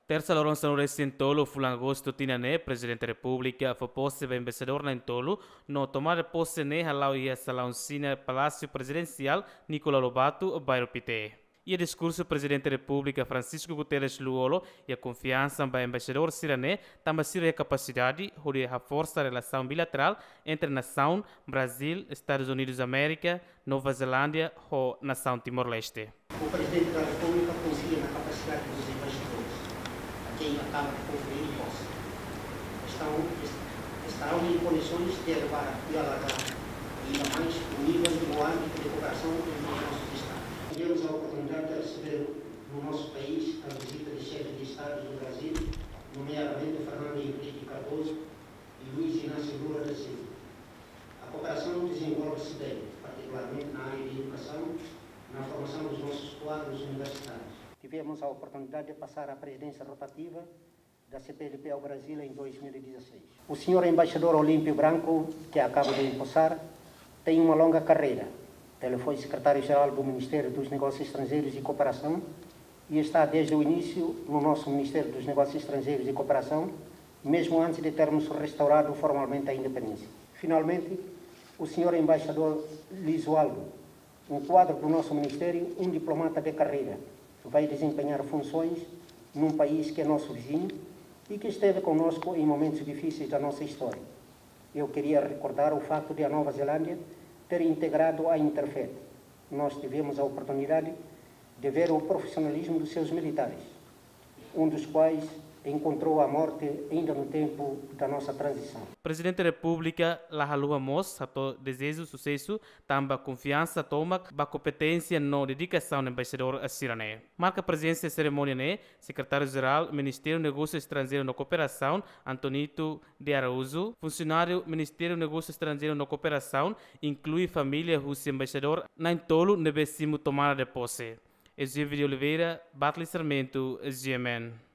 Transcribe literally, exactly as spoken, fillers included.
Tersa loron sanulu-resin-tolu fulan Agostu tinan ne'e, Prezidente Repúblika fó pose ba embaixadór na'in-tolu, no tomada de pose ne'e hala'o iha salaun sina Palásiu Prezidensiál Nicolau Lobato, Bairru Pité. Iha diskursu, Prezidente Repúblika Francisco Guterres Lú-Olo iha konfiansa ba embaixadór sira-ne'e, tanba sira iha kapasidade hodi haforsa relasaun bilaterál entre nasaun Brazíl, Estadus Unidus Amérika, Nova Zelándia ho nasaun Timor-Leste. O Presidente da República confia na capacidade dos embaixadores, a quem acaba de conferir posse. Estão, est-, estarão em condições de elevar e alargar ainda mais o nível e o âmbito de cooperação entre os nossos Estados. Tivemos a oportunidade de receber no nosso país a visita de chefes de Estado do Brasil, nomeadamente Fernando Henrique Cardoso e Luiz Inácio Lula da Silva. A cooperação desenvolve-se bem, particularmente na área de educação, na formação dos nossos quadros universitários. Tivemos a oportunidade de passar a presidência rotativa da C P L P ao Brasil em dois mil e dezasseis. O senhor embaixador Olímpio Branco, que acaba de empossar, tem uma longa carreira. Ele foi secretário-geral do Ministério dos Negócios Estrangeiros e Cooperação e está desde o início no nosso Ministério dos Negócios Estrangeiros e Cooperação, mesmo antes de termos restaurado formalmente a independência. Finalmente, o senhor embaixador Lisualdo, um quadro do nosso ministério, um diplomata de carreira, vai desempenhar funções num país que é nosso vizinho e que esteve conosco em momentos difíceis da nossa história. Eu queria recordar o facto de a Nova Zelândia ter integrado a Interfed. Nós tivemos a oportunidade de ver o profissionalismo dos seus militares, um dos quais encontrou a morte ainda no tempo da nossa transição. Prezidente Repúblika la haluha mós hato'o dezeju susesu, tanba konfiansa tomak ba kompeténsia no dedikasaun embaixadór sira-ne'e. Marka prezensa iha serimónia ne'e, Sekretáriu-Jerál Ministériu Negósiu Estranjeiru no Kooperasaun, Antonito de Araújo, funsionáriu Ministériu Negósiu Estranjeiru no Kooperasaun, inklui família husi embaixadór na'in-tolu ne'ebé simu tomada de pose. Ezio de Oliveira, Bartley Sarmento, G M N.